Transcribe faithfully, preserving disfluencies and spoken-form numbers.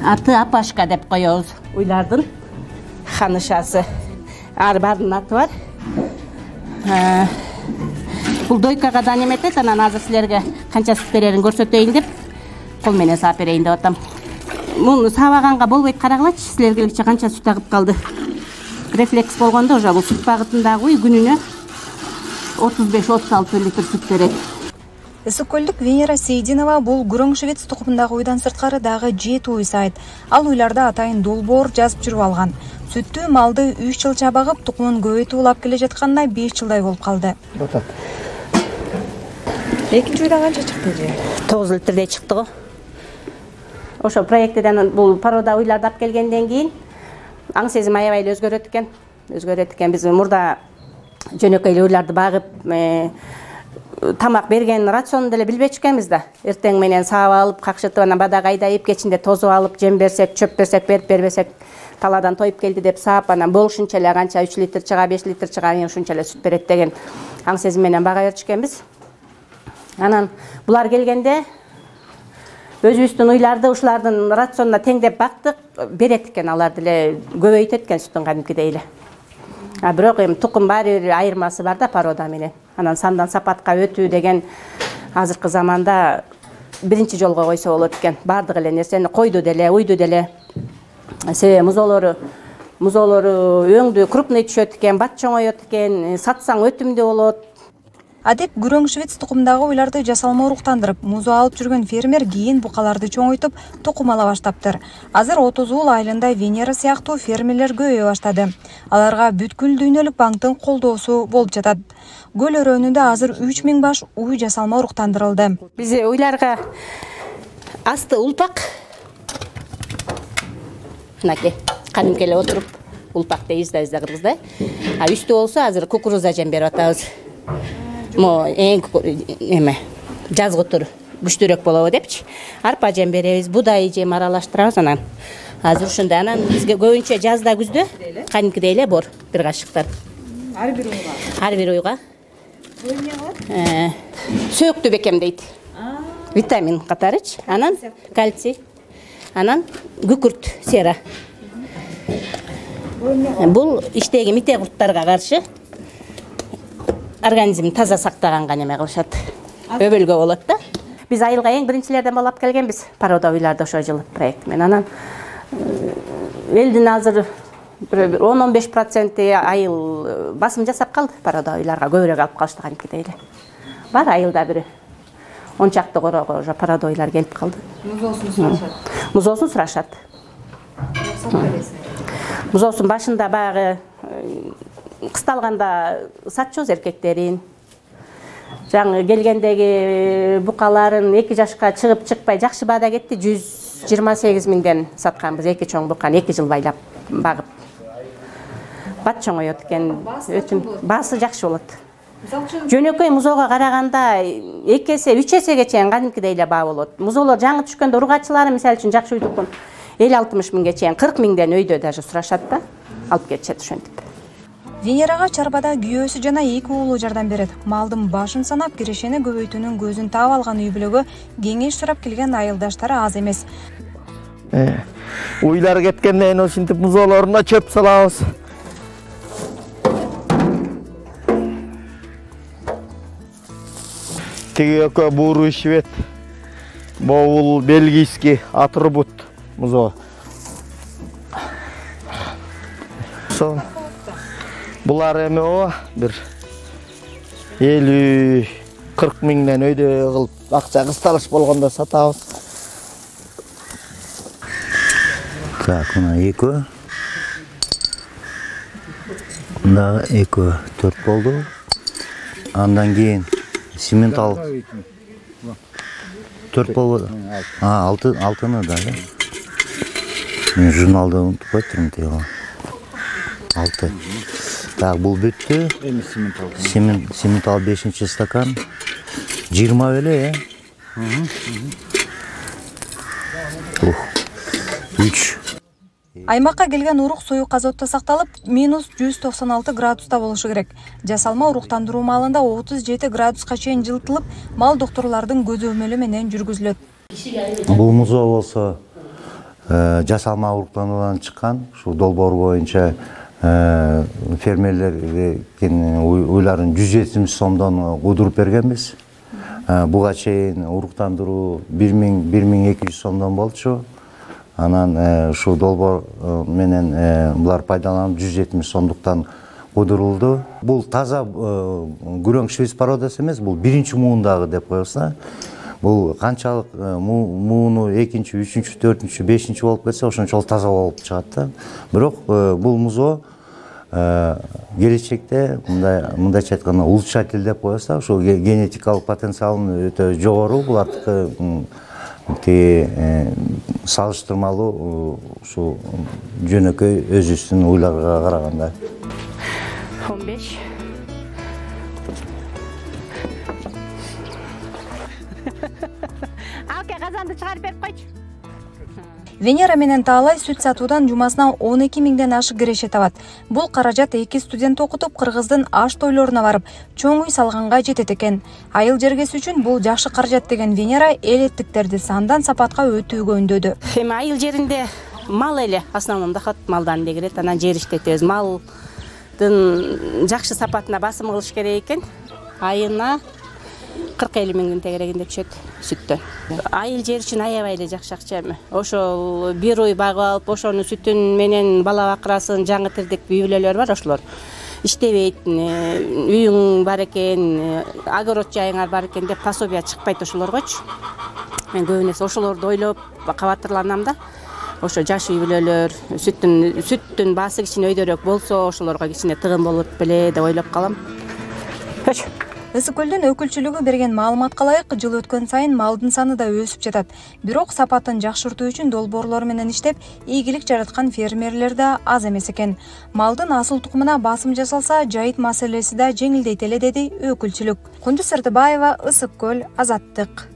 Аты Апашка деп коебуз. Уйлардын ханышасы. Ар бардын аты бар. Бул дойкага да неметет, анан азыр силерге канча сүт берерин көрсөтөйүн деп кол менен саап берейин деп атам. Муну саабаганга болбойт, карагылачы, силергече канча сүт агып калды. Рефлекс болгондо уже бул сүт багытындагы уй күнүнө отуз беш отуз алты литр сүт берет. Ысык көлдүк Венера Сейдинова бул Гүрөң швец тукумундагы уйдан сырткары дагы жети уй сайт. Ал уйларда атайын долбоор жазып жүрүп алган. Сүттү малды үч жылча багып, тукумун көбөйтүп улап келе жатканына беш жылдай болуп калды. Экинчи уйдан канча чыкты же? тогуз литрдей чыкты го. Ошо проектиден бул порода уйларды алып келгенден кийин аң сезим аябай эле өзгөрөт экен. Өзгөрөт экен. Биз мурда жөнөкөй эле уйларды багып, тамак берген рационду деле билбечү экенбиз да. Эртең менен саап алып, какшытып, анан бадага айдайып, кечинде тозуп алып, жем берсек, чөп берсек, берип бербесек, таладан тоюп келди деп саап, анан болушунча эле канча үч литр чыга, беш литр чыга, ушунча эле сүт берет деген аң сезим менен бага берчү экенбиз. Анан булар келгенде өзүбүздүн уйларды ушулардын рационуна теңдеп бактык, берет экен, алар деле көбөйтөт экен сүтүн кадимкидей эле. А бирок эми тукум баары бир айырмасы бар да порода менен. Анан сандан сапатка өтүү деген азыркы заманда биринчи жолго койсо болот экен. Бардык эле нерсени койду деле, уйду деле. Себеби музоолору музоолору өңдү крупный түшөт экен, бат чоңойот экен, сатсаң өтүмдүү болот. Адеп Гүрөң швец тукумундагы уйларды жасалма уруктандырып, музоо алып жүргөн фермер кийин букаларды чоңойтуп, тукум ала баштаптыр. Азыр отуз уул айылында Венера сыяктуу фермерлер көбөйө баштады. Аларга бүткүл дүйнөлүк банктын колдоосу болуп жатат. Көл өрөөнүндө азыр үч миң баш уй жасалма уруктандырылды. Биз уйларга асты улпак, мынакей кадимки эле отуруп улпак дейбиз да бизде кыргызда. А үстү болсо азыр кукуруза жем берип атабыз. Мо эң эме жазгы тур күчтүүрөөк болобу депчи. Арпа жем беребиз, будай жем аралаштырабыз анан. Азыр ушундай, анан бизге көбүнчө жазда күздө кадимкидей эле бор бир кашыктар. Ар бир уйга. Ар бир уйга. Бул эмне кылат? Э, сөөктү бекемдейт. Витамин катарычы, анан кальций, анан күкүрт, сера. Бул иштеги мите курттарга каршы организмди таза сактаганга неме кылышат. Өбөлгө болот да. Биз айылга эң биринчилерден болуп келгенбиз порода уйларды ошо жылы проект менен. Анан элдин азыр он он беш проценти айыл басым жасап калды порода уйларга, көбүрөөк алып калышты кадимкидей эле. Бар айылда бир он чакты корого ошо порода уйлар келип калды. Музоосун сурашат. Музоосун сурашат. Музоосун башында баягы кысталганда сатчубуз эркектерин. Жаңы келгендеги букаларын эки жашка чыгып чыкпай жакшы баада кетти. жүз жыйырма сегиз миңден сатканбыз эки чоң буканы эки жыл байлап багып. Бат чоңойот экен, өтүм баасы жакшы болот. Жөнөкөй музоого караганда эки эсе, үч эсеге чейин кадимкидей эле баа болот. Музоолор жаңы түшкөндө ургачылары мисалы үчүн жакшы уйдукун элүү алтымыш миңге чейин, кырк миңден өйдө даже сурашат да, алып кетишет ошентип. Венерага чарбада күйөөсү жана эки уулу жардам берет. Малдын башын санап, кирешени көбөйтүүнүн көзүн таап алган үй бүлөгө кеңеш сурап келген айылдаштары аз эмес. Уйлар кеткенден кийин ушинтип музоолоруна чөп салабыз. Тиги экөө буруу швед, бул бельгийский атрибут музоо. Со булар эми о бир элүү кырк миңден өйдө кылып акча кысталыш болгондо сатабыз. Так, мына экөө. Мына экөө төрт болду. Андан кийин симентал төрт болду. А, алты, алтыны да. Мен журналды унутуп коюптурмун тиги. алты. Так, бул бүттү. Эми симентал. Симент, симентал бешинчи стакан. жыйырма беле, э? Ух. үч. Аймакка келген урук суюк азотто сакталып, минус жүз токсон алты градуста болушу керек. Жасалма уруктандыруу малында отуз жети градуска чейин жылытылып, мал докторлордун көзөмөлү менен жүргүзүлөт. Бул музоо болсо жасалма уруктануудан чыккан ушул долбоор боюнча фермерлердин уйларын жүз жетимиш сомдон кудуруп бергенбиз. Буга чейин уруктандыруу бир миң бир миң эки жүз сомдон болчу. Анан ушул долбоор менен булар пайдаланып жүз жетимиш сомдуктан кудурулду. Бул таза күрөң швец породасы эмес, бул биринчи муундагы деп коебуз. Бул канчалык мууну экинчи, үчүнчү, төртүнчү, бешинчи болуп кетсе, ошончолук таза болуп чыгат да. Бирок бул музоо келечекте мындай мындайча айтканда улучшатель деп коебуз да, ошол генетикалык потенциалы өтө жогору. Булардыкы салыштырмалуу ушул жөнөкөй өзүбүздүн уйларга караганда. он беш. Алке казанды чыгарып берип койчу. Венера менен Таалай сүт сатуудан жумасына он эки миңден ашык киреше табат. Бул каражат эки студент окутуп Кыргыздын аш тойлоруна барып, чоң үй салганга жетет экен. Айыл жергеси үчүн бул жакшы каражат деген Венера элеттиктерди сандан сапатка өтүүгө үндөдү. Эми айыл жеринде мал эле основном доход малдан эле кирет, анан жер иштетебиз. Малдын жакшы сапатына басым кылыш керек экен. Айына кырк элүү миңдин тегерегинде түшөт сүттөн. Айыл жер үчүн аябай эле жакшы акча эми. Ошол бир уй багып алып, ошонун сүтүн менен бала бакырасын, жаңы тирдик үй бүлөлөр бар, ошолор иштебейт, үйүң бар экен, огород жайыңар бар экен деп пособия чыкпайт ошолоргочу. Мен көбүнесе ошолорду ойлоп кабатырланам да. Ошо жаш үй бүлөлөр сүттүн сүттүн баасы кичине өйдөрөөк болсо, ошолорго кичине тыгын болот беле деп ойлоп калам. Ысык көлдүн өкүлчүлүгү берген маалыматка ылайык, жыл өткөн сайын малдын саны да өсүп жатат. Бирок сапатын жакшыртуу үчүн долбоорлор менен иштеп, ийгилик жараткан фермерлер да аз эмес экен. Малдын асыл тукумуна басым жасалса, жайыт маселеси да жеңилдейт эле, деди өкүлчүлүк. Кундуз Сырдыбаева, Ысык көл, Азаттык.